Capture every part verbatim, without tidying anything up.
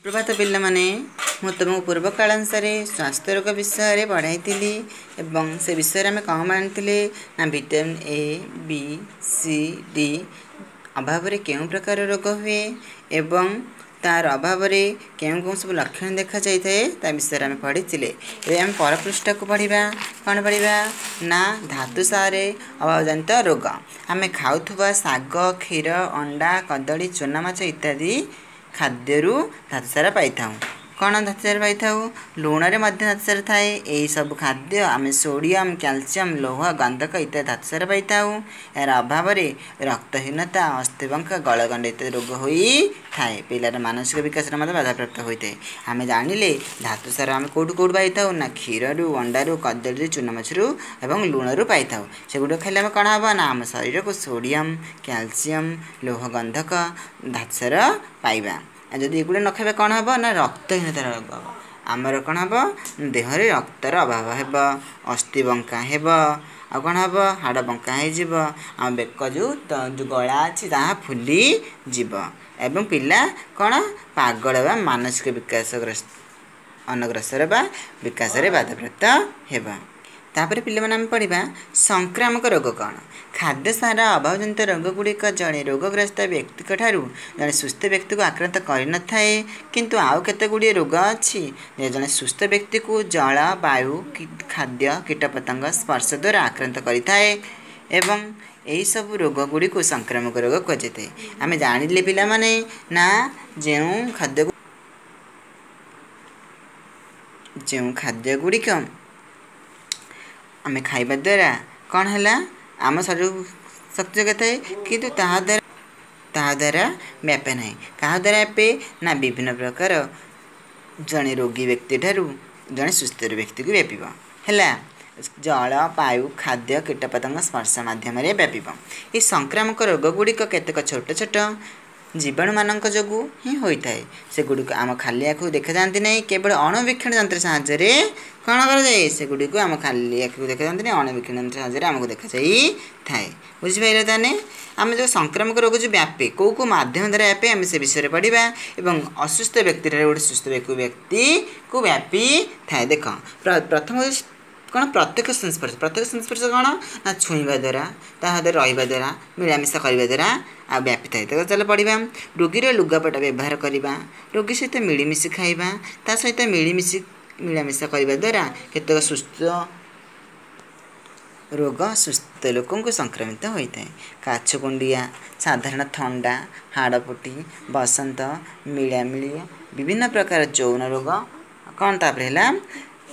ପ୍ରଭାତ ପିଲାମାନେ, ମୁଁ ତୁମକୁ ପୂର୍ବ କାଳାଂଶରେ ସ୍ୱାସ୍ଥ୍ୟ ରୋଗ ବିଷୟରେ ପଢ଼ାଇଥିଲି ଏବଂ ସେ ବିଷୟରେ ଆମେ କ'ଣ ଜାଣିଥିଲେ ନା vitamin A, B, C, D ଅଭାବରେ କେଉଁ ପ୍ରକାର ରୋଗ ହୁଏ ଏବଂ ତାର ଅଭାବରେ କେଉଁ କେଉଁ ସବୁ ଲକ୍ଷଣ ଦେଖାଯାଇଥାଏ, ତା ବିଷୟରେ ଆମେ ପଢ଼ିଥିଲେ। ଏବେ ଆମେ ପରପୃଷ୍ଠାକୁ ପଢ଼ିବା। କ'ଣ ପଢ଼ିବା ନା ଧାତୁସାରରେ ଅଭାବଜନିତ ରୋଗ। ଆମେ ଖାଉଥିବା ଶାଗ, କ୍ଷୀର, ଅଣ୍ଡା, କଦଳୀ, ଚୁନା ମାଛ ଇତ୍ୟାଦି ଖାଦ୍ୟରୁ ଧାତୁସାର ପାଇଥାଉ। କ'ଣ ଧାତୁସାର ପାଇଥାଉ? ଲୁଣରେ ମଧ୍ୟ ଧାତୁସାର ଥାଏ। ଏହିସବୁ ଖାଦ୍ୟ ଆମେ ସୋଡ଼ିୟମ୍, କ୍ୟାଲସିୟମ୍, ଲୌହ, ଗନ୍ଧକ ଇତ୍ୟାଦି ଧାତୁସାର ପାଇଥାଉ। ଏହାର ଅଭାବରେ ରକ୍ତହୀନତା, ଅସ୍ଥିବଙ୍କା, ଗଳଗଣ୍ଡ ଇତ୍ୟାଦି ରୋଗ ହୋଇଥାଏ। ପିଲାର ମାନସିକ ବିକାଶରେ ମଧ୍ୟ ବାଧାପ୍ରାପ୍ତ ହୋଇଥାଏ। ଆମେ ଜାଣିଲେ ଧାତୁସାର ଆମେ କେଉଁଠୁ କେଉଁଠୁ ପାଇଥାଉ ନା କ୍ଷୀରରୁ, ଅଣ୍ଡାରୁ, କଦଳୀରୁ, ଚୁନା ମାଛରୁ ଏବଂ ଲୁଣରୁ ପାଇଥାଉ। ସେଗୁଡ଼ିକ ଖାଇଲେ ଆମେ କ'ଣ ହେବ ନା ଆମ ଶରୀରକୁ ସୋଡ଼ିୟମ୍, କ୍ୟାଲସିୟମ୍, ଲୌହ, ଗନ୍ଧକ ଧାତୁସାର ପାଇବା। ଆଉ ଯଦି ଏଗୁଡ଼ା ନ ଖାଇବା କ'ଣ ହେବ ନା ରକ୍ତହୀନତାର ରୋଗ ହେବ। ଆମର କ'ଣ ହେବ? ଦେହରେ ରକ୍ତର ଅଭାବ ହେବ, ଅସ୍ଥି ବଙ୍କା ହେବ, ଆଉ କ'ଣ ହେବ? ହାଡ଼ ବଙ୍କା ହେଇଯିବ, ଆମ ବେକ ଯେଉଁ ଯେଉଁ ଗଳା ଅଛି ତାହା ଫୁଲିଯିବ ଏବଂ ପିଲା କ'ଣ ପାଗଳ ବା ମାନସିକ ବିକାଶଗ୍ରସ୍ତ ଅନଗ୍ରସର ବା ବିକାଶରେ ବାଧାପ୍ରାପ୍ତ ହେବ। ତାପରେ ପିଲାମାନେ ଆମେ ପଢ଼ିବା ସଂକ୍ରାମକ ରୋଗ କ'ଣ। ଖାଦ୍ୟ ସାର ଅଭାବଜନିତ ରୋଗଗୁଡ଼ିକ ଜଣେ ରୋଗଗ୍ରସ୍ତ ବ୍ୟକ୍ତିଙ୍କ ଠାରୁ ଜଣେ ସୁସ୍ଥ ବ୍ୟକ୍ତିକୁ ଆକ୍ରାନ୍ତ କରିନଥାଏ, କିନ୍ତୁ ଆଉ କେତେ ଗୁଡ଼ିଏ ରୋଗ ଅଛି ଯେ ଜଣେ ସୁସ୍ଥ ବ୍ୟକ୍ତିକୁ ଜଳ, ବାୟୁ, ଖାଦ୍ୟ, କୀଟପତଙ୍ଗ ସ୍ପର୍ଶ ଦ୍ୱାରା ଆକ୍ରାନ୍ତ କରିଥାଏ ଏବଂ ଏହିସବୁ ରୋଗଗୁଡ଼ିକୁ ସଂକ୍ରାମକ ରୋଗ କୁହାଯାଇଥାଏ। ଆମେ ଜାଣିଲେ ପିଲାମାନେ ନା ଯେଉଁ ଖାଦ୍ୟ ଯେଉଁ ଖାଦ୍ୟ ଗୁଡ଼ିକ ଆମେ ଖାଇବା ଦ୍ୱାରା କ'ଣ ହେଲା, ଆମ ଶରୀରକୁ ଶକ୍ତି ଯୋଗାଇଥାଏ, କିନ୍ତୁ ତାହା ଦ୍ୱାରା ତାହା ଦ୍ୱାରା ବ୍ୟାପେ ନାହିଁ। କାହା ଦ୍ୱାରା ବ୍ୟାପେ ନା ବିଭିନ୍ନ ପ୍ରକାର ଜଣେ ରୋଗୀ ବ୍ୟକ୍ତି ଠାରୁ ଜଣେ ସୁସ୍ଥ ବ୍ୟକ୍ତିକୁ ବ୍ୟାପିବ। ହେଲା, ଜଳ, ବାୟୁ, ଖାଦ୍ୟ, କୀଟପତଙ୍ଗ ସ୍ପର୍ଶ ମାଧ୍ୟମରେ ବ୍ୟାପିବ। ଏହି ସଂକ୍ରାମକ ରୋଗ ଗୁଡ଼ିକ କେତେକ ଛୋଟ ଛୋଟ ଜୀବାଣୁମାନଙ୍କ ଯୋଗୁଁ ହିଁ ହୋଇଥାଏ। ସେଗୁଡ଼ିକୁ ଆମ ଖାଲି ଆଖିକୁ ଦେଖାଯାଆନ୍ତି ନାହିଁ, କେବଳ ଅଣୁବୀକ୍ଷଣ ଯନ୍ତ୍ର ସାହାଯ୍ୟରେ କ'ଣ କରାଯାଏ? ସେଗୁଡ଼ିକୁ ଆମ ଖାଲି ଆଖିକୁ ଦେଖାଯାଆନ୍ତି ନାହିଁ, ଅଣୁବୀକ୍ଷଣ ଯନ୍ତ୍ର ସାହାଯ୍ୟରେ ଆମକୁ ଦେଖାଯାଇଥାଏ। ବୁଝିପାରିଲେ? ତାହେଲେ ଆମେ ଯେଉଁ ସଂକ୍ରାମକ ରୋଗ ଯେଉଁ ବ୍ୟାପେ, କେଉଁ କେଉଁ ମାଧ୍ୟମ ଦ୍ୱାରା ବ୍ୟାପେ, ଆମେ ସେ ବିଷୟରେ ପଢ଼ିବା ଏବଂ ଅସୁସ୍ଥ ବ୍ୟକ୍ତିଠାରୁ ଗୋଟେ ସୁସ୍ଥ ବ୍ୟକ୍ତିକୁ ବ୍ୟାପିଥାଏ। ଦେଖ, ପ୍ରଥମ କ'ଣ? ପ୍ରତ୍ୟକ୍ଷ ସଂସ୍ପର୍ଶ। ପ୍ରତ୍ୟକ୍ଷ ସଂସ୍ପର୍ଶ କ'ଣ ନା ଛୁଇଁବା ଦ୍ୱାରା, ତା ସହିତ ରହିବା ଦ୍ୱାରା, ମିଳାମିଶା କରିବା ଦ୍ୱାରା ଆଉ ବ୍ୟାପିଥାଏ। ତ ଚାଲ ପଢ଼ିବା। ରୋଗୀର ଲୁଗାପଟା ବ୍ୟବହାର କରିବା, ରୋଗୀ ସହିତ ମିଳିମିଶି ଖାଇବା, ତା ସହିତ ମିଳିମିଶି ମିଳାମିଶା କରିବା ଦ୍ୱାରା କେତେକ ସୁସ୍ଥ ରୋଗ ସୁସ୍ଥ ଲୋକଙ୍କୁ ସଂକ୍ରମିତ ହୋଇଥାଏ। କାଛୁ କୁଣ୍ଡିଆ, ସାଧାରଣ ଥଣ୍ଡା, ହାଡ଼ଫୁଟି, ବସନ୍ତ, ମିଳାମିଳି, ବିଭିନ୍ନ ପ୍ରକାର ଯୌନ ରୋଗ କ'ଣ, ତାପରେ ହେଲା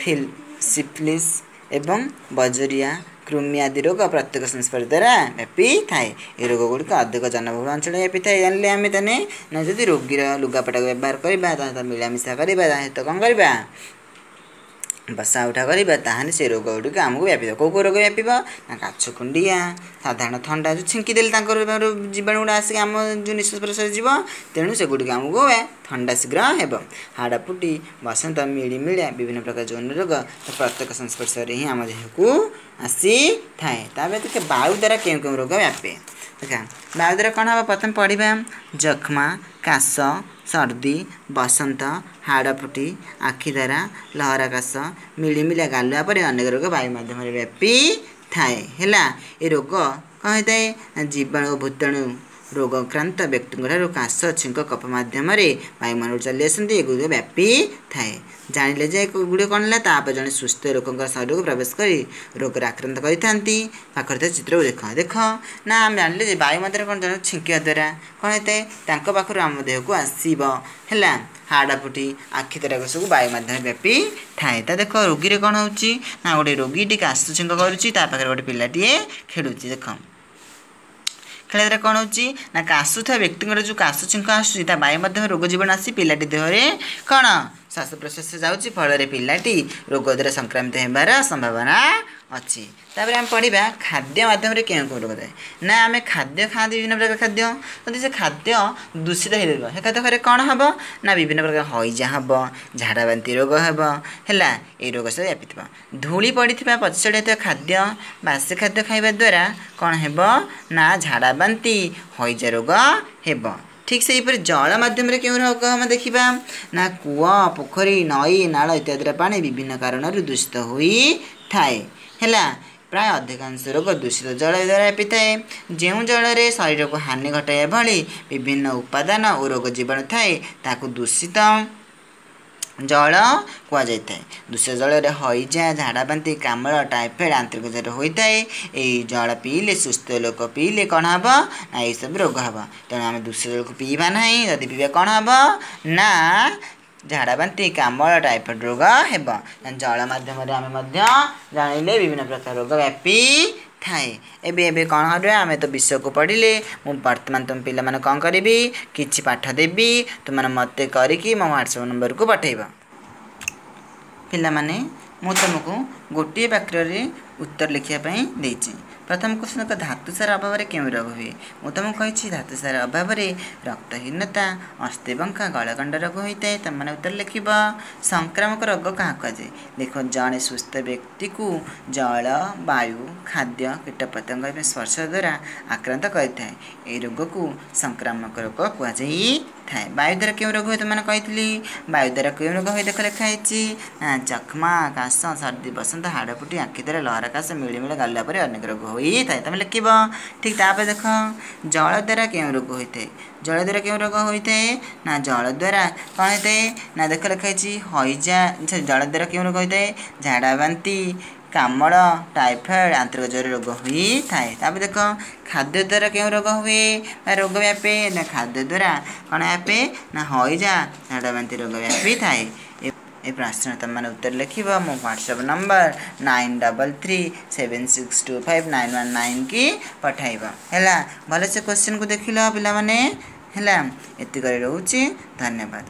ଫିଲ୍ ସିଫିଲିସ୍ ଏବଂ ବଜରିଆ, କୃମି ଆଦି ରୋଗ ପ୍ରତ୍ୟକ୍ଷ ସଂସ୍ପର୍ଶ ଦ୍ୱାରା ବ୍ୟାପିଥାଏ। ଏ ରୋଗ ଗୁଡ଼ିକ ଅଧିକ ଜନବହୁଳ ଅଞ୍ଚଳରେ ବ୍ୟାପିଥାଏ। ଜାଣିଲେ ଆମେ ତାହେଲେ ନା ଯଦି ରୋଗୀର ଲୁଗାପଟାକୁ ବ୍ୟବହାର କରିବା, ତା ସହିତ ମିଳାମିଶା କରିବା, ତା ସହିତ କ'ଣ କରିବା, ବସା ଉଠା କରିବା, ତାହେଲେ ସେ ରୋଗ ଗୁଡ଼ିକ ଆମକୁ ବ୍ୟାପିବ। କେଉଁ କେଉଁ ରୋଗ ବ୍ୟାପିବ ନା କାଛୁ କୁଣ୍ଡିଆ, ସାଧାରଣ ଥଣ୍ଡା, ଯେଉଁ ଛିଙ୍କି ଦେଲେ ତାଙ୍କର ଜୀବାଣୁ ଗୁଡ଼ା ଆସିକି ଆମ ଯେଉଁ ନିଶ୍ୱାସ ପ୍ରଶ୍ୱାସ ଯିବ, ତେଣୁ ସେଗୁଡ଼ିକ ଆମକୁ ଥଣ୍ଡା ଶୀଘ୍ର ହେବ। ହାଡ଼ଫୁଟି, ବସନ୍ତ, ମିଳିମିଳିଆ, ବିଭିନ୍ନ ପ୍ରକାର ଯୌନ ରୋଗ ପ୍ରତ୍ୟକ୍ଷ ସଂସ୍ପର୍ଶରେ ହିଁ ଆମ ଦେହକୁ ଆସିଥାଏ। ତାପରେ ଦେଖ, ବାୟୁ ଦ୍ୱାରା କେଉଁ କେଉଁ ରୋଗ ବ୍ୟାପେ। ଦେଖ, ବାୟୁ ଦ୍ୱାରା କ'ଣ ହେବ? ପ୍ରଥମେ ପଢ଼ିବା। ଯକ୍ଷ୍ମା, କାଶ, ସର୍ଦ୍ଦି, ବସନ୍ତ, ହାଡ଼ଫୁଟି, ଆଖିଦାରା, ଲହରା କାଶ, ମିଳିମିଳିଆ, ଗାଲୁଆ ପରି ଅନେକ ରୋଗ ବାୟୁ ମାଧ୍ୟମରେ ବ୍ୟାପିଥାଏ। ହେଲା, ଏ ରୋଗ କ'ଣ ହୋଇଥାଏ ନା ଜୀବାଣୁ ଓ ଭୂତାଣୁ ରୋଗାକ୍ରାନ୍ତ ବ୍ୟକ୍ତିଙ୍କ ଠାରୁ କାଶ, ଛିଙ୍କ, କଫ ମାଧ୍ୟମରେ ବାୟୁମଣ୍ଡଳକୁ ଚାଲି ଆସନ୍ତି, ଏଗୁଡ଼ିକ ବ୍ୟାପିଥାଏ। ଜାଣିଲେ ଯେ ଏଗୁଡ଼ିକ କ'ଣ ହେଲା, ତାପରେ ଜଣେ ସୁସ୍ଥ ଲୋକଙ୍କ ଶରୀରକୁ ପ୍ରବେଶ କରି ରୋଗରେ ଆକ୍ରାନ୍ତ କରିଥାନ୍ତି। ପାଖରେ ଥିବା ଚିତ୍ରକୁ ଦେଖ। ଦେଖ ନା, ଆମେ ଜାଣିଲେ ଯେ ବାୟୁ ମଧ୍ୟରେ କ'ଣ, ଜଣେ ଛିଙ୍କିବା ଦ୍ୱାରା କ'ଣ ହେଇଥାଏ, ତାଙ୍କ ପାଖରୁ ଆମ ଦେହକୁ ଆସିବ। ହେଲା, ହାଡ଼ଫୁଟି, ଆଖି ତରାକ ସବୁ ବାୟୁ ମାଧ୍ୟମରେ ବ୍ୟାପିଥାଏ। ତା ଦେଖ, ରୋଗୀରେ କ'ଣ ହେଉଛି ନା ଗୋଟେ ରୋଗୀଟି କାଶ ଛିଙ୍କ କରୁଛି, ତା ପାଖରେ ଗୋଟେ ପିଲାଟିଏ ଖେଳୁଛି। ଦେଖ, ଖେଳିବା ଦ୍ୱାରା କ'ଣ ହେଉଛି ନା କାଶୁଥିବା ବ୍ୟକ୍ତିଙ୍କର ଯେଉଁ କାଶ ଛିଙ୍କ ଆସୁଛି, ତା ବାୟୁ ମାଧ୍ୟମରେ ରୋଗ ଜୀବାଣୁ ଆସି ପିଲାଟି ଦେହରେ କ'ଣ ଶ୍ୱାସ ପ୍ରଶ୍ୱାସ ଯାଉଛି, ଫଳରେ ପିଲାଟି ରୋଗ ଦ୍ୱାରା ସଂକ୍ରମିତ ହେବାର ସମ୍ଭାବନା ଅଛି। ତାପରେ ଆମେ ପଢ଼ିବା ଖାଦ୍ୟ ମାଧ୍ୟମରେ କେଉଁ କେଉଁ ରୋଗ ଥାଏ। ନା ଆମେ ଖାଦ୍ୟ ଖାଆନ୍ତି, ବିଭିନ୍ନ ପ୍ରକାର ଖାଦ୍ୟ, ଯଦି ସେ ଖାଦ୍ୟ ଦୂଷିତ ହେଇଯିବ, ସେ ଖାଦ୍ୟ ଖାଇଲେ କ'ଣ ହେବ ନା ବିଭିନ୍ନ ପ୍ରକାର ହଇଜା ହେବ, ଝାଡ଼ା ବାନ୍ତି ରୋଗ ହେବ। ହେଲା, ଏଇ ରୋଗ ସବୁ ବ୍ୟାପିଥିବ। ଧୂଳି ପଡ଼ିଥିବା, ପଚି ଥିବା ଖାଦ୍ୟ, ବାସି ଖାଦ୍ୟ ଖାଇବା ଦ୍ୱାରା କ'ଣ ହେବ ନା ଝାଡ଼ା ବାନ୍ତି, ହଇଜା ରୋଗ ହେବ। ଠିକ୍ ସେହିପରି ଜଳ ମାଧ୍ୟମରେ କେଉଁ ରୋଗ ଆମେ ଦେଖିବା ନା କୂଅ, ପୋଖରୀ, ନଈ, ନାଳ ଇତ୍ୟାଦିର ପାଣି ବିଭିନ୍ନ କାରଣରୁ ଦୂଷିତ ହୋଇଥାଏ। ହେଲା, ପ୍ରାୟ ଅଧିକାଂଶ ରୋଗ ଦୂଷିତ ଜଳ ଦ୍ୱାରା ବ୍ୟାପିଥାଏ। ଯେଉଁ ଜଳରେ ଶରୀରକୁ ହାନି ଘଟାଇବା ଭଳି ବିଭିନ୍ନ ଉପାଦାନ ଓ ରୋଗ ଜୀବାଣୁ ଥାଏ, ତାକୁ ଦୂଷିତ ଜଳ କୁହାଯାଇଥାଏ। ଦୂଷିତ ଜଳରେ ହଇଜା, ଝାଡ଼ାବାନ୍ତି, କାମଳ, ଟାଇଫଏଡ଼୍, ଆନ୍ତରିକ ଜ୍ୱର ହୋଇଥାଏ। ଏଇ ଜଳ ପିଇଲେ, ସୁସ୍ଥ ଲୋକ ପିଇଲେ କ'ଣ ହେବ ନା ଏଇସବୁ ରୋଗ ହେବ। ତେଣୁ ଆମେ ଦୂଷିତ ଜଳକୁ ପିଇବା ନାହିଁ। ଯଦି ପିଇବା କ'ଣ ହେବ ନା ଝାଡ଼ାବାନ୍ତି, କାମଳ, ଟାଇଫଏଡ଼୍ ରୋଗ ହେବ। ଜଳ ମାଧ୍ୟମରେ ଆମେ ମଧ୍ୟ ଜାଣିଲେ ବିଭିନ୍ନ ପ୍ରକାର ରୋଗ ବ୍ୟାପି ଥାଏ। ଏବେ ଏବେ କ'ଣ କରିବା? ଆମେ ତ ବିଷୟକୁ ପଢ଼ିଲେ। ମୁଁ ବର୍ତ୍ତମାନ ତୁମ ପିଲାମାନେ କ'ଣ କରିବି, କିଛି ପାଠ ଦେବି, ତୁମେ ମୋତେ କରିକି ମୋ ହ୍ୱାଟ୍ସଆପ୍ ନମ୍ବରକୁ ପଠାଇବ। ପିଲାମାନେ, ମୁଁ ତୁମକୁ ଗୋଟିଏ ବାକ୍ୟରେ ଉତ୍ତର ଲେଖିବା ପାଇଁ ଦେଇଛି। ପ୍ରଥମ କ୍ୱେଶ୍ଚନ୍ ଏକ, ଧାତୁସାର ଅଭାବରେ କେଉଁ ରୋଗ ହୁଏ? ମୁଁ ତୁମକୁ କହିଛି ଧାତୁସାର ଅଭାବରେ ରକ୍ତହୀନତା, ଅସ୍ଥିବଙ୍କା, ଗଳଗଣ୍ଡ ରୋଗ ହୋଇଥାଏ। ତୁମେମାନେ ଉତ୍ତର ଲେଖିବ। ସଂକ୍ରାମକ ରୋଗ କାହାକୁ କୁହାଯାଏ? ଦେଖ, ଜଣେ ସୁସ୍ଥ ବ୍ୟକ୍ତିକୁ ଜଳ, ବାୟୁ, ଖାଦ୍ୟ, କୀଟପତଙ୍ଗ ଏବଂ ସ୍ପର୍ଶ ଦ୍ୱାରା ଆକ୍ରାନ୍ତ କରିଥାଏ। ଏହି ରୋଗକୁ ସଂକ୍ରାମକ ରୋଗ କୁହାଯାଇଥାଏ। ବାୟୁ ଦ୍ୱାରା କେଉଁ ରୋଗ ହୁଏ ତୁମମାନେ କହିଥିଲି। ବାୟୁ ଦ୍ୱାରା କେଉଁ ରୋଗ ହୁଏ ଦେଖ ଲେଖା ହେଇଛି ନା ଯକ୍ଷ୍ମା, କାଶ, ସର୍ଦ୍ଦି, ବସନ୍ତ, ହାଡ଼ଫୁଟି, ଆଖି ଦ୍ୱାରା ଲହରା କାଶ, ମିଳିମିଳି ଗାଲୁଆ ପରି ଅନେକ ରୋଗ ହୋଇଥାଏ। ତମେ ଲେଖିବ। ଠିକ୍ ତାପରେ ଦେଖ, ଜଳ ଦ୍ୱାରା କେଉଁ ରୋଗ ହୋଇଥାଏ? ଜଳ ଦ୍ୱାରା କେଉଁ ରୋଗ ହୋଇଥାଏ ନା ଜଳ ଦ୍ୱାରା କ'ଣ ହୋଇଥାଏ ନା ଦେଖ ଲେଖା ହେଇଛି ହଇଜା। ଜଳ ଦ୍ୱାରା କେଉଁ ରୋଗ ହୋଇଥାଏ? ଝାଡ଼ା ବାନ୍ତି, କାମଳ, ଟାଇଫଏଡ଼୍, ଆନ୍ତରିକ ଜ୍ୱର ରୋଗ ହୋଇଥାଏ। ତାପରେ ଦେଖ, ଖାଦ୍ୟ ଦ୍ୱାରା କେଉଁ ରୋଗ ହୁଏ ବା ରୋଗ ବ୍ୟାପେ? ନା ଖାଦ୍ୟ ଦ୍ୱାରା କ'ଣ ବ୍ୟାପେ ନା ହଇଜା, ଝାଡ଼ା ବାନ୍ତି ରୋଗ ବ୍ୟାପିଥାଏ। ଏ ପ୍ରଶ୍ନ ତୁମେମାନେ ଉତ୍ତର ଲେଖିବ। ମୋ WhatsApp number nine double three seven six two five nine one nine କି ପଠାଇବ। ହେଲା, ଭଲସେ କ୍ୱେଶ୍ଚିନ୍କୁ ଦେଖିଲ ପିଲାମାନେ? ହେଲା, ଏତିକରେ ରହୁଛି, ଧନ୍ୟବାଦ।